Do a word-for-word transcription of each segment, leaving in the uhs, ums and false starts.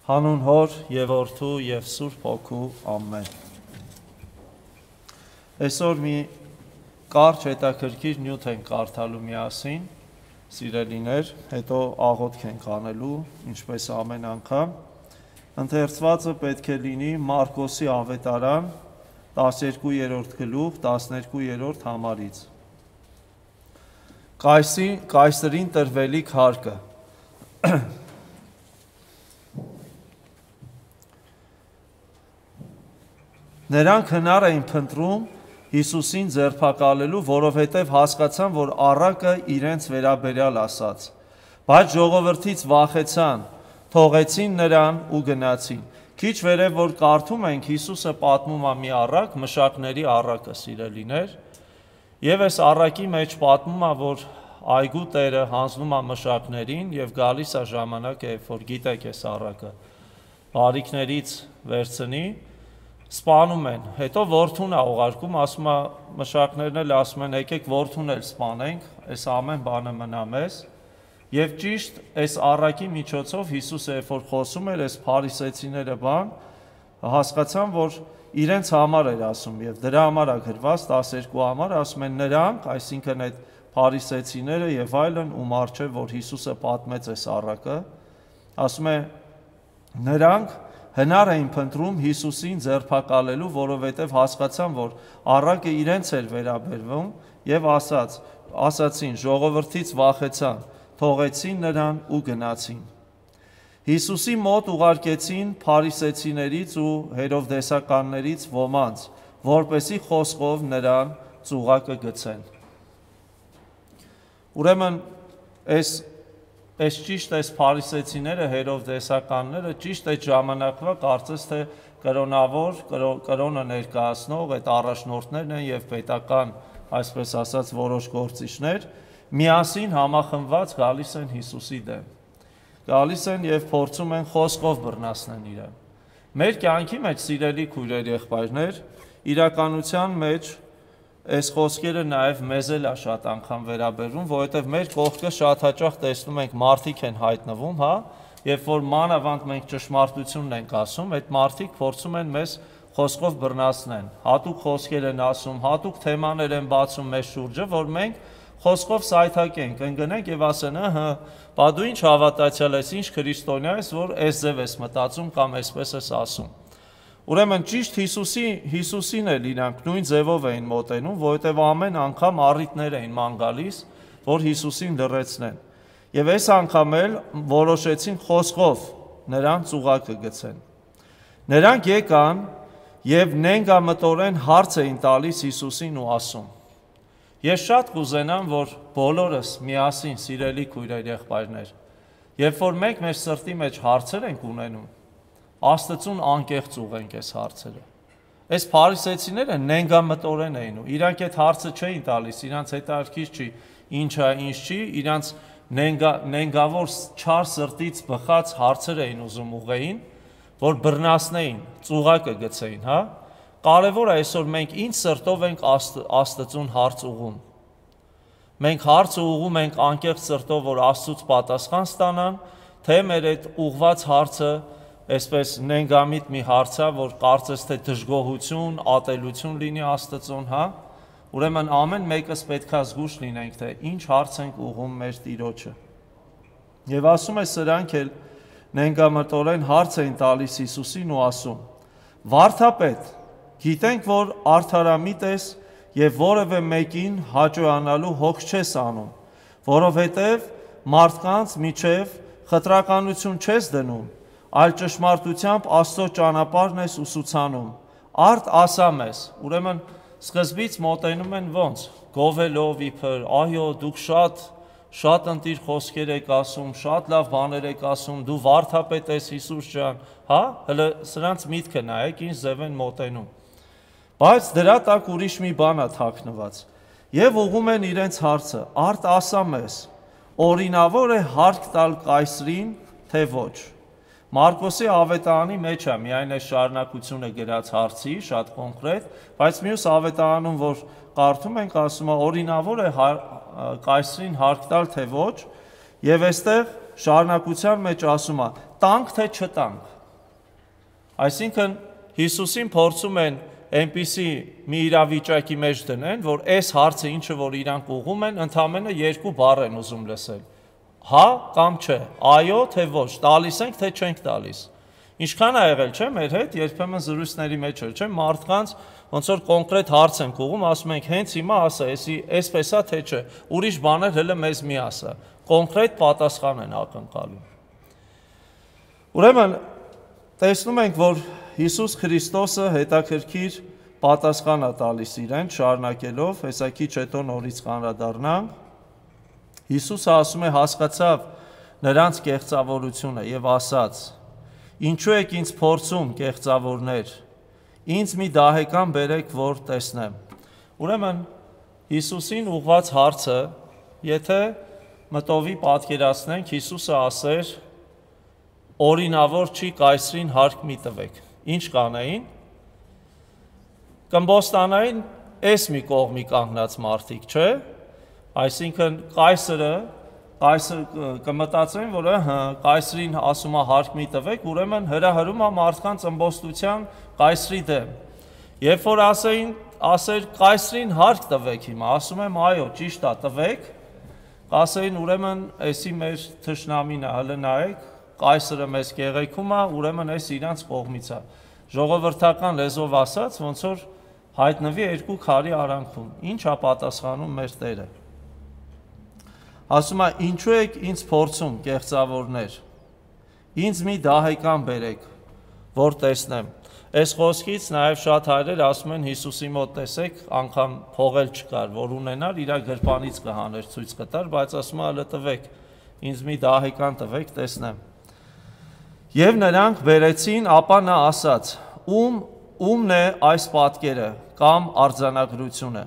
Հանուն Հոր և Որդու և Սուրբ Հոգու ամեն։ Այսօր մի կարճ հետաքրքիր նյութ ենք կարդալու միասին, սիրելիներ, հետո աղոթք ենք անելու, ինչպես ամեն անգամ։ Ընթերցվածը պետք է լինի Մարկոսի ավետարան տասներկուերորդ գլուխ տասներկուերորդ համարից։ Կայսրին տրվելիք հարկը։ Նրանք հնար էին փնտրում Հիսուսին ձերբակալելու, որովհետև հասկացան, որ առակը իրենց վերաբերյալ ասաց, բայց ժողովրդից վախեցան, թողեցին նրան ու գնացին։ Քիչ վերև որ կարդում ենք, Հիսուսը պատմում է մի առակ, մշակների առակը, սիրելիներ, եւ այս առակի մեջ պատմում է, որ այգու տերը հանձնում է մշակներին եւ գալիս է ժամանակը, երբ որ գիտեք այս առակը բարիքներից վերցնի, սպանում են, հետո որդուն է ուղարկում, ասում է մշակներն էլ ասում են, եկեք որդուն էլ սպանենք, այս ամեն բանը մնա մեզ, եւ ճիշտ այս առակի միջոցով Հիսուսը երբ որ խոսում էր, այս փարիսեցիները բան հասկացան, որ իրենց համար էր ասում, եւ դրա համար է գրված տասներկու համար, ասում են նրանք, այսինքն այդ փարիսեցիները եւ այլն, ում առջեւ որ Հիսուսը պատմեց այս առակը, ասում է նրանք հնար էին փնտրում Հիսուսին ձերբակալելու, որովհետև հասկացան, որ առակը իրենց էր վերաբերվում եւ ասաց, ասացին, ժողովրդից վախեցան, թողեցին նրան ու գնացին։ Հիսուսի մոտ ուղարկեցին փարիսեցիներից ու հերովդեսականներից ոմանց, որպեսզի խոսքով նրան ծուղակը գցեն։ Ուրեմն այս Այս ճիշտ այս փարիսեցիները, հերովդեսականները ճիշտ այդ ժամանակվա կարծես թե կրոնավոր, կրոնը ներկայացնող այդ առաջնորդներն են եւ պետական, այսպես ասած, որոշ գործիչներ միասին համախմբված գալիս են Հիսուսի դեմ։ Գալիս են եւ փորձում են խոսքով բռնացնել իրեն։ Մեր կյանքի մեջ, սիրելի քույրեր, եղբայրներ, իրականության մեջ այս խոսքերը նաև մեզ էլ է շատ անգամ վերաբերվում, որովհետև մեր կողքը շատ հաճախ տեսնում ենք մարդիկ են հայտնվում, հա, երբ որ մանավանդ մենք ճշմարտությունն ենք ասում, այդ մարդիկ փորձում են մեզ խոսքով բռնացնել, հատուկ խոսքեր են ասում, հատուկ թեմաներ են բացում մեզ շուրջը, որ մենք խոսքով սայթակենք, ընկնենք եւ ասեն, ըհը, բա դու ինչ հավատացյալ ես, ինչ քրիստոնյա ես, որ այս ձև ես մտածում կամ այսպես ես ասում։ Ուրեմն ճիշտ Հիսուսի Հիսուսին էլ իրանք նույն ձևով էին մոտենում, որովհետև ամեն անգամ առիթներ էին ման գալիս, որ Հիսուսին լռեցնեն։ Եվ այս անգամ էլ որոշեցին խոսքով նրան ծուղակը գցեն։ Նրանք եկան եւ նենգամտորեն հարց էին տալիս Հիսուսին ու ասում. Ես շատ կուզենամ, որ բոլորս միասին, սիրելի քույրեր, եղբայրներ, երբ որ մենք մեր սրտի մեջ հարցեր ենք ունենում, Աստծուն անկեղծ ուղենք այս հարցերը։ Այս փարիսեցիները նենգամտորեն էին ու իրանք այդ հարցը չէին տալիս, իրանց հետաքրքիր չի, ինչ է, ինչ չի, իրանց նենգա, նենգավոր չար սրտից բխած հարցեր էին ուզում ուղեին, որ բռնացնեին, ծուղակը գցեին, հա։ Կարևոր է այսօր մենք ինչ սրտով ենք Աստ, Աստծուն հարց ուղում։ Մենք հարցը ուղում ենք անկեղծ սրտով, որ Աստծուց պատասխան ստանան, թե մեր այդ ուղված հարցը այսպես նենգամիտ մի հարցա, որ կարծես թե դժգոհություն, ատելություն լինի Աստծուն, հա։ Ուրեմն ամեն մեկս պետքա զգուշ լինենք, թե ինչ հարց ենք ուղում մեր Տիրոջը։ Եվ ասում է սրանք էլ նենգամտորեն հարց էին տալիս Հիսուսին ու ասում. Վարդապետ, գիտենք, որ արդարամիտ ես եւ որևէ մեկին հաճոյանալու հոգ չես անում, որովհետեւ մարդկանց միջև խտրականություն չես դնում, այլ ճշմարտությամբ Աստծո ճանապարհն ես ուսուցանում, արդ ասա մեզ, ուրեմն սկզբից մոտենում են ոնց, գովելով իբր, այո, դուք շատ, շատ ընտիր խոսքեր եք ասում, շատ լավ բաներ եք ասում, դու վարդապետ ես Հիսուս ջան, հա, հələ սրանց միտքը նայեք, ինչ ձև են մոտենում, բայց դրա տակ ուրիշ մի բան է թաքնված, եւ ուղում են իրենց հարցը, արդ ասա մեզ, օրինավոր է հարկ տալ կայսրին, թե ոչ։ Մարկոսի ավետարանի մեջ է միայն այս շարունակությունը գրած հարցի, շատ կոնկրետ, բայց մյուս ավետարանում, որ կարդում ենք, ասում է օրինավոր է կայսրին հարկ տալ, թե ոչ, եւ այստեղ շարունակության մեջ ասում է, տանք թե չտանք։ Այսինքն Հիսուսին փորձում են այնպիսի մի իրավիճակի մեջ դնեն, որ այս հարցը ինչը որ իրանք ուղում են, ընդամենը երկու բառ են ուզում լսել։ Հա կամ չէ, այո թե ոչ, տալիս ենք թե չենք տալիս։ Ինչքան ա եղել, չէ, մեր հետ երբեմն զրույցների մեջ էր, չէ, մարդկանց ոնց որ կոնկրետ հարց ենք ուղում, ասում ենք հենց հիմա ասա, էսի էսպես է թե չէ, ուրիշ բաներ հələ մեզ մի ասա։ Կոնկրետ պատասխան են ակնկալում։ Ուրեմն տեսնում ենք, որ Հիսուս Քրիստոսը հետաքրքիր պատասխան է տալիս իրեն, շարունակելով, հեսա քիչ հետո նորից կանդրադառնանք։ Հիսուսը ասում է, հասկացավ նրանց կեղծավորությունը եւ ասաց. Ինչու եք ինձ փորձում, կեղծավորներ, ինձ մի դահեկան բերեք, որ տեսնեմ։ Ուրեմն Հիսուսին ուղված հարցը, եթե մտովի պատկերացնենք, Հիսուսը ասեր, օրինավոր չի կայսրին հարկ մի տվեք։ Ինչ կանեին։ Կմբոստանային էս մի կողմի կանգնած մարդիկ, չէ։ Այսինքն կայսրը, կայսր կմտածեն, որ հա կայսրին ասում է հարկ մի տվեք, ուրեմն հրահրում է մարդկանց ըմբոստության կայսրի դեմ։ Երբ որ ասեին, ասեր կայսրին հարկ տվեք հիմա, ասում եմ այո, ճիշտ է, տվեք, ասեին ուրեմն էսի մեր թշնամին է, հələ նայեք, կայսրը մեզ կեղեքում է, ուրեմն էս իրանց կողմից է։ Ժողովրդական լեզվով ասած, ոնց որ հայտնվի երկու քարի արանքում։ Ինչ է պատասխանում մեր Տերը։ Ասում է, ինչու եք ինձ փորձում, կեղծավորներ, ինձ մի դահեկան բերեք, որ տեսնեմ։ Այս խոսքից նաև շատ հայրեր ասում են Հիսուսի մոտ տեսեք, անգամ փողել չկար, որ ունենար, իր գրպանից կհաներ, ցույց կտար, բայց ասում է, հələ տվեք, ինձ մի դահեկան տվեք, տեսնեմ։ Եվ նրանք բերեցին, ապա նա ասաց. Ում ումն է այս պատկերը կամ արձանագրությունը։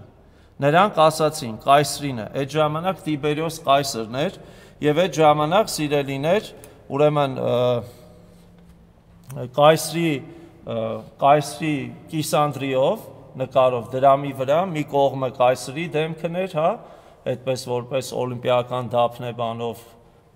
Նրանք ասացին, կայսրինը, այդ ժամանակ Տիբերիոս կայսրն էր, եւ այդ ժամանակ սիրելիներ, ուրեմն կայսրի կայսրի կիսանդրիով նկարով դրամի վրա մի կողմը կայսրի դեմքն էր, հա, այդպես որպես օլիմպիական դափնե բանով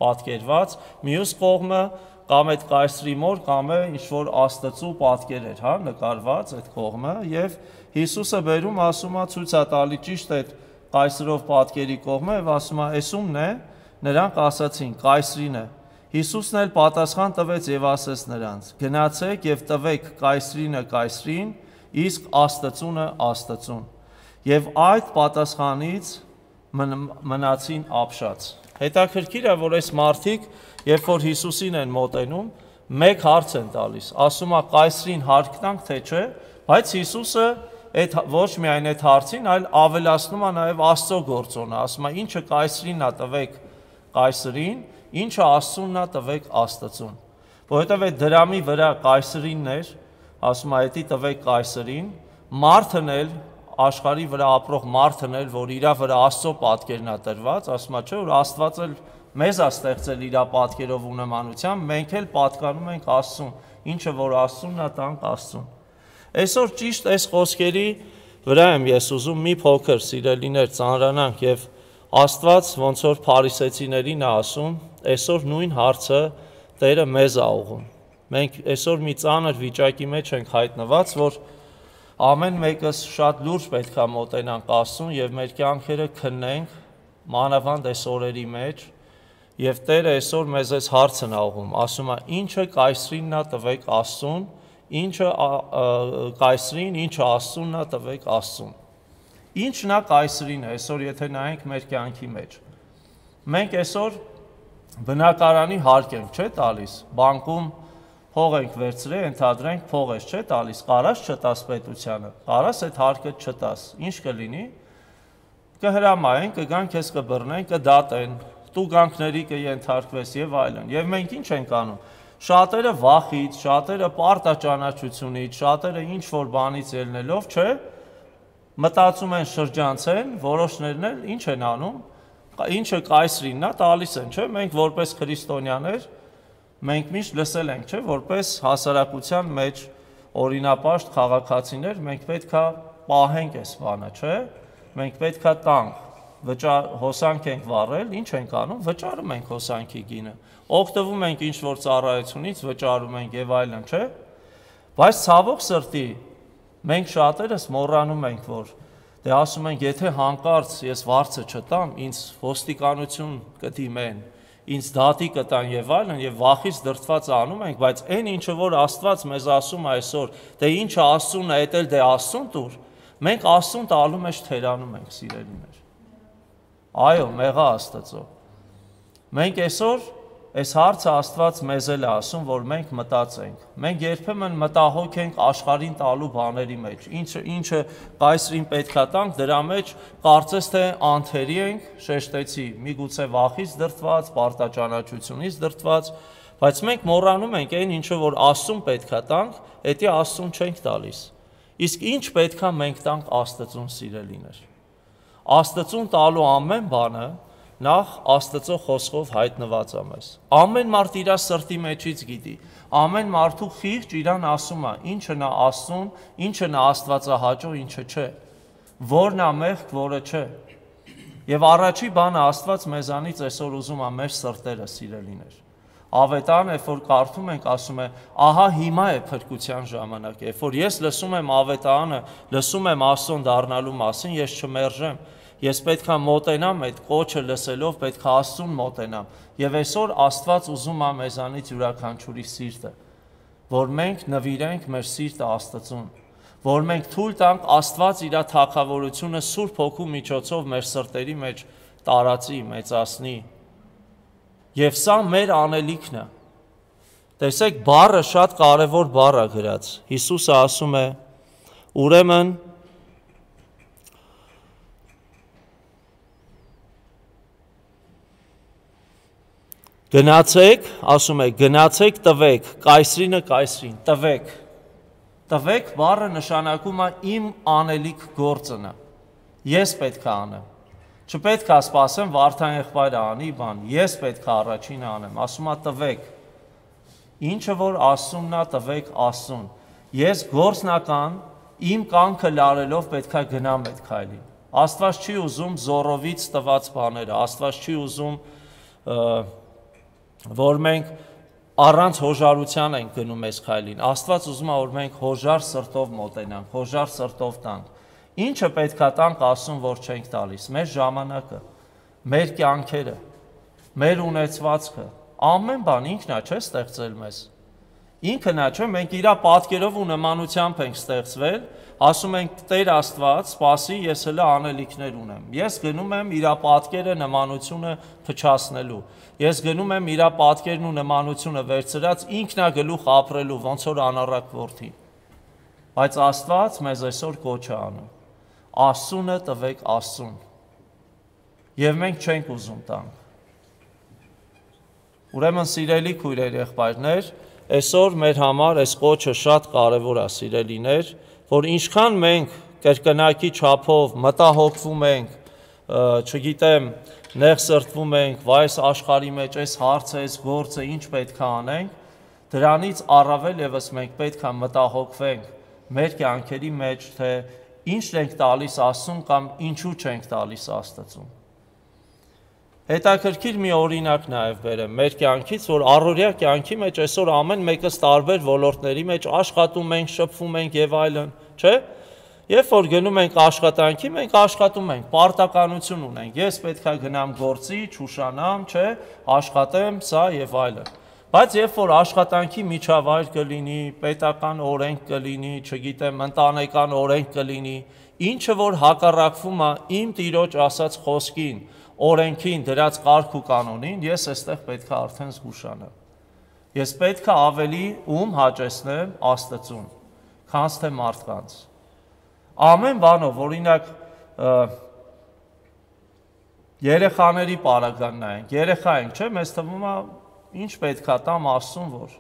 պատկերված, մյուս կողմը կամ այդ կայսրի մոր կամ է ինչ որ աստծու պատկեր էր, հա, նկարված այդ կողմը եւ Հիսուսը բերում ասում է ցույց է տալի ճիշտ այդ կայսրով պատկերի կողմը եւ ասում է էս ումն է, նրանք ասացին կայսրին է։ Հիսուսն էլ պատասխան տվեց եւ ասեց նրանց. գնացեք եւ տվեք կայսրինը կայսրին, իսկ աստծունը աստծուն։ Եվ այդ պատասխանից մնացին ապշած։ Հետաքրքիր է, որ այս մարդիկ, երբ որ Հիսուսին են մոտենում, մեկ հարց են տալիս, ասում է կայսրին հարկ տանք թե չէ, բայց Հիսուսը այդ ոչ միայն այդ հարցին, այլ ավելացնում է նաև Աստծո գործոնը, ասում է ինչը կայսրին է տվեք կայսրին, ինչը Աստծունն է տվեք Աստծուն։ Որովհետև այդ դրամի վրա կայսրինն էր, ասում է էդի տվեք կայսրին, մարդն էլ աշխարհի վրա ապրող մարդն էլ, որ իր վրա Աստծո պատկերն է տրված, ասում է չէ, որ Աստված էլ մեզ է ստեղծել իր պատկերով ու նմանությամբ, մենք էլ պատկանում ենք Աստծուն, ինչը որ Աստծունն է, տանք Աստծուն։ Այսօր ճիշտ այս խոսքերի վրա եմ ես ուզում մի փոքր սիրելիներ ծանրանանք եւ Աստված ոնց որ փարիսեցիներին է ասում, այսօր նույն հարցը Տերը մեզ է ուղղում։ Մենք այսօր մի ծանր վիճակի մեջ ենք հայտնված, որ ամեն մեկս շատ լուրջ պետք է մոտենանք Աստծուն եւ մեր կյանքերը քննենք, մանավանդ այս օրերի մեջ, եւ Տերը այսօր մեզ այս հարցն է ուղղում, ասում է ինչը կայսրինն է տվեք Աստծուն, ինչը կայսրին, ինչը Աստծունն է տվեք Աստծուն։ Ինչն է կայսրին, այսօր եթե նայենք մեր կյանքի մեջ։ Մենք այսօր բնակարանի հարկ ենք, չէ՞ տալիս, բանկում փող ենք վերցրել, ընդհանրենք փող ես չէ՞ տալիս, կարաս չտաս պետությանը, կարաս այդ հարկը չտաս, ինչ կլինի։ Կհրամայեն, կգան քեզ կբռնեն, կդատեն, տուգանքների կենթարկվես եւ այլն։ Եվ մենք ինչ ենք անում։ Շատերը վախից, շատերը պարտաճանաչությունից, շատերը ինչ որ բանից ելնելով, չէ, մտածում են շրջանցեն, որոշներն էլ ինչ են անում, ինչը կայսրինն է, տալիս են, չէ, մենք որպես քրիստոնյաներ, մենք միշտ լսել ենք, չէ, որպես հասարակության մեջ օրինապաշտ քաղաքացիներ, մենք պետք է պահենք այս բանը, չէ, մենք պետք է տանք, հոսանք ենք վառել, ինչ ենք անում, վճարում ենք հոսանքի գինը, օգտվում ենք ինչ-որ ծառայությունից, վճարում ենք եւ այլն, չէ՞։ Բայց ցավոք սրտի մենք շատերս մոռանում ենք, որ դե ասում ենք, եթե հանկարծ ես վարձը չտամ, ինձ ոստիկանություն կդիմեն, ինձ դատի կտան եւ այլն, եւ վախից դրդված անում ենք, բայց այն ինչը որ Աստված մեզ ասում այսօր, դե ինչը Աստծուն է, դա էլ դե Աստծուն տուր, մենք Աստծուն տալու մեջ թերանում ենք, սիրելիներ։ Այո, մեղա Աստծո։ Մենք այսօր այս հարցը Աստված մեզ էլ է ասում, որ մենք մտածենք։ Մենք երբեմն մտահոգ ենք աշխարհին տալու բաների մեջ։ Ինչը ինչը կայսրին պետքա տանք, դրա մեջ կարծես թե անթերի ենք, շեշտեցի, միգուցե վախից դրդված, պարտաճանաչությունից դրդված, բայց մենք մոռանում ենք այն ինչը որ Աստծուն պետքա տանք, դա Աստծուն չենք տալիս։ Իսկ ինչ պետքա մենք տանք Աստծուն, սիրելիներ։ Աստծուն տալու ամեն բանը նախ Աստծո խոսքով հայտնված է մեզ։ Ամեն մարդ իր սրտի մեջից գիտի, ամեն մարդու խիղճ իրան ասում է, ինչը նա Աստծուն, ինչը նա Աստվածահաճո, ինչը չէ, որն է մեղք, որը չէ։ Եվ առաջի բանը Աստված մեզանից այսօր ուզում է մեր սրտերը, սիրելիներ։ Ավետարանը, երբ որ կարդում ենք, ասում է, ահա հիմա է փրկության ժամանակը, երբ որ ես լսում եմ ավետարանը, լսում եմ Աստծուն դառնալու մասին, ես չմերժեմ։ Ես պետք է մոտենամ այդ կոչը լսելով, պետք է Աստծուն մոտենամ։ Եվ այսօր Աստված ուզում է մեզանից յուրաքանչյուրի սիրտը, որ մենք նվիրենք մեր սիրտը Աստծուն, որ մենք թույլ տանք Աստված իր թագավորությունը Սուրբ Հոգու միջոցով մեր սրտերի մեջ տարածի, մեծացնի։ Եվ սա մեր անելիքն է։ Տեսեք, բառը շատ կարևոր բառ է գրած։ Հիսուսը ասում է, ուրեմն Գնացեք, ասում է, գնացեք տվեք, կայսրինը կայսրին, տվեք, տվեք բառը նշանակում է իմ անելիք գործնը, ես պետք է անեմ, չպետք է սպասեմ Վարդան եղբայրը անի բան, ես պետք է առաջինը անեմ, ասում է տվեք, ինչը որ Աստծունն է տվեք Աստծուն, ես գործնական իմ կամքը լարելով պետք է գնամ այդ քայլին, Աստված չի ուզում զոռովից տված բաները, Աստված չի ուզում որ մենք առանց հոժարության ենք գնում այս քայլին, Աստված ուզում է, որ մենք հոժար սրտով մոտենանք, հոժար սրտով տանք, ինչը պետք է տանք Աստծուն, որ չենք տալիս, մեր ժամանակը, մեր կյանքերը, մեր ունեցվածքը, ամեն բան ինքն է, չէ՞ ստեղծել մեզ, ինքն է, չէ՞, մենք իր պատկերով ու նմանությամբ ենք ստեղծվել, ասում ենք Տեր Աստված, սպասի, ես հələ անելիքներ ունեմ, ես գնում եմ իր պատկերը նմանությունը փչացնելու, ես գնում եմ իր պատկերն ու նմանությունը վերցրած ինքնագլուխ ապրելու, ոնց որ անառակ որդին, բայց Աստված մեզ այսօր կոչ է անում, Աստծունը տվեք Աստծուն, և մենք չենք ուզում տանք, ուրեմն սիրելի քույրեր, եղբայրներ, այսօր մեր համար այս կոչը շատ կարևոր է, սիրելիներ, որ ինչքան մենք կրկնակի չափով մտահոգվում ենք, չգիտեմ, նեղ սրտվում ենք, վայ այս աշխարհի մեջ այս հարցը, այս գործը ինչ պետք է անենք, դրանից առավել ևս մենք պետք է մտահոգվենք մեր կյանքերի մեջ, թե ինչ ենք տալիս Աստծուն կամ ինչու չենք տալիս Աստծուն։ Հետաքրքիր մի օրինակ նաև բերեմ մեր կյանքից, որ առօրյա կյանքի մեջ այսօր ամեն մեկս տարբեր ոլորտների մեջ աշխատում ենք, շփվում ենք եւ այլն, չէ՞։ Երբ որ գնում ենք աշխատանքի, մենք աշխատում ենք, պարտականություն ունենք։ Ես պետք է գնամ գործի, չուշանամ, չէ՞, աշխատեմ, սա եւ այլն։ Բայց երբ որ աշխատանքի միջավայր կլինի, պետական օրենք կլինի, չգիտեմ, ընտանեկան օրենք կլինի, ինչը որ հակառակվում է իմ Տիրոջ ասած խոսքին, օրենքին, դրած կարգ ու կանոնին, ես այստեղ պետք է արդեն զգուշանամ։ Ես պետք է ավելի ում հաճեսնեմ Աստծուն, քան թե մարդկանց։ Ամեն բանով, օրինակ, երեխաների պարագան նայենք, երեխա ենք, չէ՞, մեզ թվում է ինչ պետք է տամ Աստծուն, որ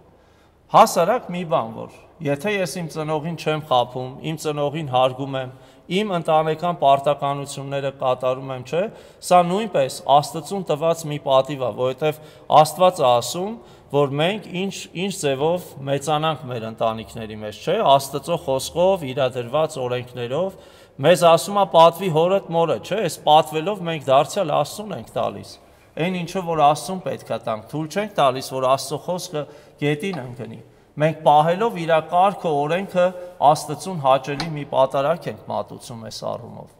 հասարակ մի բան, որ եթե ես իմ ծնողին չեմ խաբում, իմ ծնողին հարգում եմ, իմ ընտանեկան պարտականությունները կատարում եմ, չէ՞, սա նույնպես Աստծուն տված մի պատիվ է, որովհետև Աստված է ասում, որ մենք ինչ ինչ ձևով մեծանանք մեր ընտանիքների մեջ, չէ՞, Աստծո խոսքով, իրադրված օրենքներով, Մեզ ասում է պատվի հորդ մորը, չէ, այս պատվելով մենք դարձյալ Աստծուն ենք տալիս։ Այն ինչը որ Աստծուն պետքա տանք, թույլ չենք տալիս, որ Աստծո խոսքը գետին ընկնի։ Մենք պահելով իր կարգը, օրենքը Աստծուն հաճելի մի պատարակ ենք մատուցում այս առումով։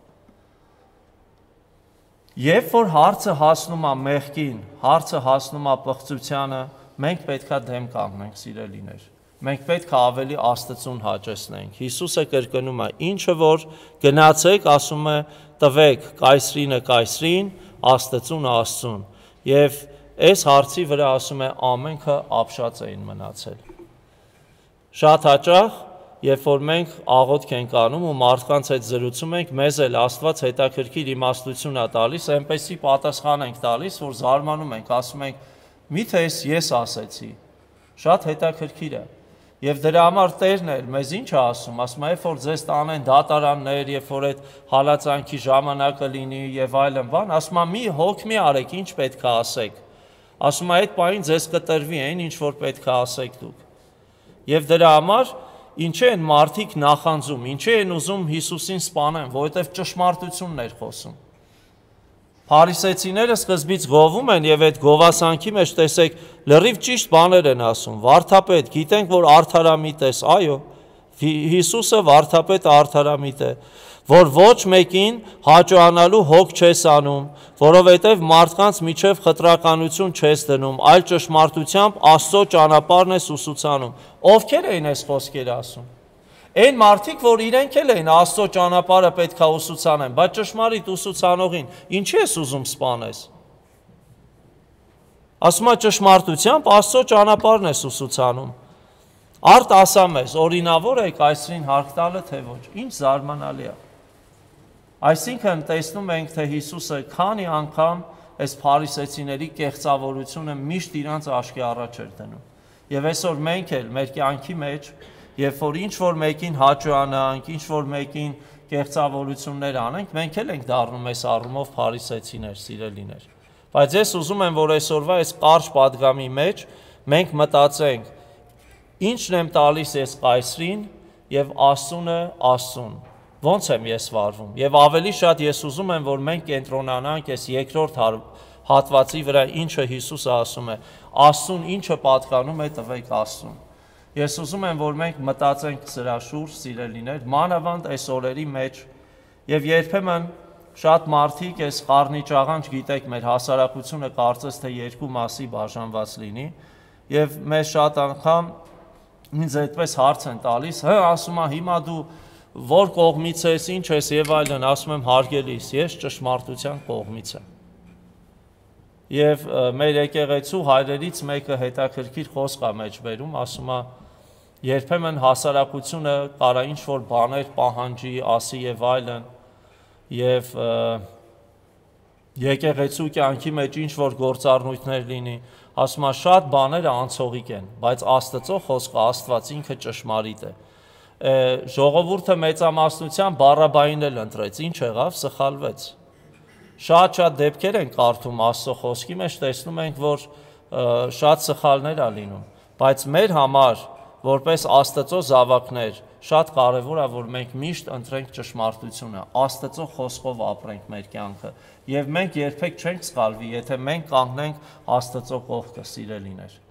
Երբ որ հարցը հասնում է մեղքին, հարցը հասնում է պղծությանը, մենք պետքա դեմ կանգնենք, սիրելիներ։ Մենք պետք է ավելի Աստծուն հաճեսնենք։ Հիսուսը կրկնում է, ինչը որ գնացեք, ասում է, տվեք կայսրինը կայսրին, Աստծուն Աստծուն։ Եվ այս հարցի վրա ասում է, ամենքը ապշած էին մնացել։ Շատ հաճախ, երբ որ մենք աղոթք ենք անում ու մարդկանց հետ զրուցում ենք, մեզ էլ Աստված հետաքրքիր իմաստություն է տալիս, այնպեսի պատասխան ենք տալիս, որ զարմանում ենք, ասում ենք, միթե ես ասեցի։ Շատ հետաքրքիր է։ Եվ դրա համար Տերն էլ մեզ ինչ է ասում, ասում է, երբ որ ձեզ տանեն դատարաններ, երբ որ այդ հալածանքի ժամանակը լինի եւ այլն բան, ասում է, մի հոգ մի արեք, ինչ պետք է ասեք։ Ասում է, այդ պահին ձեզ կտրվի այն, ինչ որ պետք է ասեք դուք։ Եվ դրա համար ինչի են մարդիկ նախանձում, ինչի են ուզում Հիսուսին սպանեն, որովհետև ճշմարտությունն էր խոսում։ Փարիսեցիները սկզբից գովում են եւ այդ գովասանքի մեջ տեսեք լրիվ ճիշտ բաներ են ասում։ Վարդապետ, գիտենք որ արդարամիտ ես, այո, Հիսուսը վարդապետը արդարամիտ է, որ ոչ մեկին հաճոանալու հոգ չես անում, որովհետև մարդկանց միջև խտրականություն չես դնում, այլ ճշմարտությամբ Աստծո ճանապարհն ես ուսուցանում։ Ովքեր էին այս խոսքերը ասում։ Այն մարդիկ, որ իրենք էլ էին Աստծո ճանապարհը պետք է ուսուցանեն, բայց ճշմարիտ ուսուցանողին ինչի ես ուզում սպանես։ Ասում է ճշմարտությամբ Աստծո ճանապարհն ես ուսուցանում։ Արդ ասա մեզ, օրինավոր է կայսրին հարկ տալը, թե ոչ։ Ինչ զարմանալի է։ Այսինքն տեսնում ենք, թե Հիսուսը քանի անգամ այս փարիսեցիների կեղծավորությունը միշտ իրանց աչքի առաջ էր դնում։ Եվ այսօր մենք էլ մեր կյանքի մեջ, երբ որ ինչ որ մեկին հաճոյանանք, ինչ որ մեկին կեղծավորություններ անենք, մենք էլ ենք դառնում այս առումով փարիսեցիներ, սիրելիներ։ Բայց ես ուզում եմ, որ այսօրվա այս կարճ պատգամի մեջ մենք մտածենք, ինչն եմ տալիս ես կայսրին եւ Աստծունը Աստծուն։ Ոնց եմ ես վարվում։ Եվ ավելի շատ ես ուզում եմ, որ մենք կենտրոնանանք այս երկրորդ հատվածի վրա, ինչը Հիսուսը ասում է, Աստծուն ինչը պատկանում է, տվեք Աստծուն։ Ես ուզում եմ, որ մենք մտածենք սրա շուրջ, սիրելիներ, մանավանդ այս օրերի մեջ, եւ երբեմն շատ մարդիկ այս խառնի ճաղանջ, գիտեք, մեր հասարակությունը կարծես թե երկու մասի բաժանված լինի, եւ մեզ շատ անգամ ինձ այդպես հարց են տալիս, հա, ասում է, հիմա դու որ կողմից ես, ինչ ես եւ այլն, ասում եմ, հարգելիս, ես ճշմարտության կողմից եմ։ Եվ մեր եկեղեցու հայրերից մեկը հետաքրքիր խոսք է մեջ բերում, ասում է, երբեմն հասարակությունը կարա ինչ որ բաներ պահանջի, ասի եւ այլն, եւ եկեղեցու կյանքի մեջ ինչ որ գործառնույթներ լինի, ասում է, շատ բաները անցողիկ են, բայց Աստծո խոսքը, Աստված ինքը ճշմարիտ է։ Ժողովուրդը մեծամասնությամբ Բարաբային էլ ընտրեց, ինչ եղավ, սխալվեց։ Շատ-շատ դեպքեր են կարդում Աստծո խոսքի մեջ, տեսնում ենք, որ շատ սխալներ ա լինում, բայց մեր համար, որպես Աստծո զավակներ, շատ կարևոր է, որ մենք միշտ ընտրենք ճշմարտությունը, Աստծո խոսքով ապրենք մեր կյանքը, եւ մենք երբեք չենք սխալվի, եթե մենք կանգնենք Աստծո կողքը, սիրելիներ։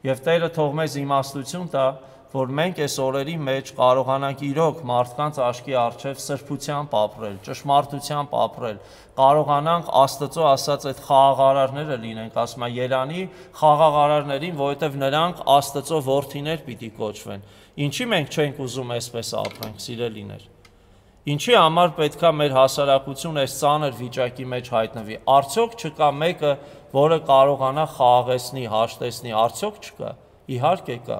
Եվ Տերը թող մեզ իմաստություն տա, որ մենք այս օրերի մեջ կարողանանք իրոք մարդկանց աչքի առջև սրբությամբ ապրել, ճշմարտությամբ ապրել, կարողանանք Աստծո ասած այդ խաղաղարարները լինենք, ասում է Երանի խաղաղարարներին, որովհետև նրանք Աստծո որդիներ պիտի կոչվեն։ Ինչի մենք չենք ուզում այսպես ապրենք, սիրելիներ։ Ինչի համար պետքա մեր հասարակությունը այս ծանր վիճակի մեջ հայտնվի։ Արդյոք չկա մեկը, որը կարողանա խաղաղեցնի, հաշտեցնի, արդյոք չկա։ Իհարկե կա։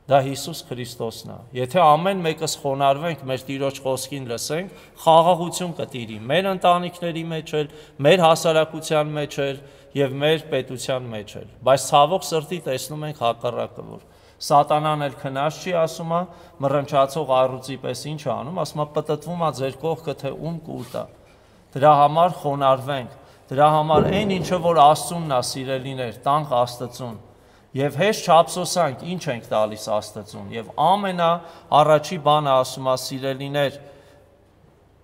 Դա Հիսուս Քրիստոսն է։ Եթե ամեն մեկս խոնարհվենք, մեր Տիրոջ խոսքին լսենք, խաղաղություն կտիրի մեր ընտանիքների մեջ էլ, մեր հասարակության մեջ էլ եւ մեր պետության մեջ էլ։ Բայց ցավոք սրտի տեսնում ենք հակառակը, որ Սատանան էլ քնած չի, ասում է, մռնչացող առյուծի պես ինչ է անում, ասում է, պտտվում է ձեր կողքը, թե ում կուլ տա։ Դրա համար խոնարհվենք, դրա համար այն ինչը որ Աստծունն է, սիրելիներ, տանք Աստծուն։ Եվ հեշտ չափսոսանք, ինչ ենք տալիս Աստծուն, եւ ամենա առաջի բանը ասում է, սիրելիներ,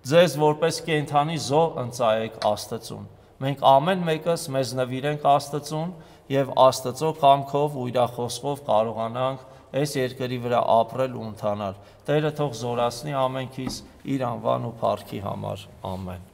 ձեզ որպես կենդանի զոհ ընծայեք Աստծուն։ Մենք ամեն մեկս մեզ նվիրենք Աստծուն եւ Աստծո կամքով ու իր խոսքով կարողանանք այս երկրի վրա ապրել ու ընթանալ։ Տերը թող զորացնի ամենքիս իր անվան ու փառքի համար։ Ամեն։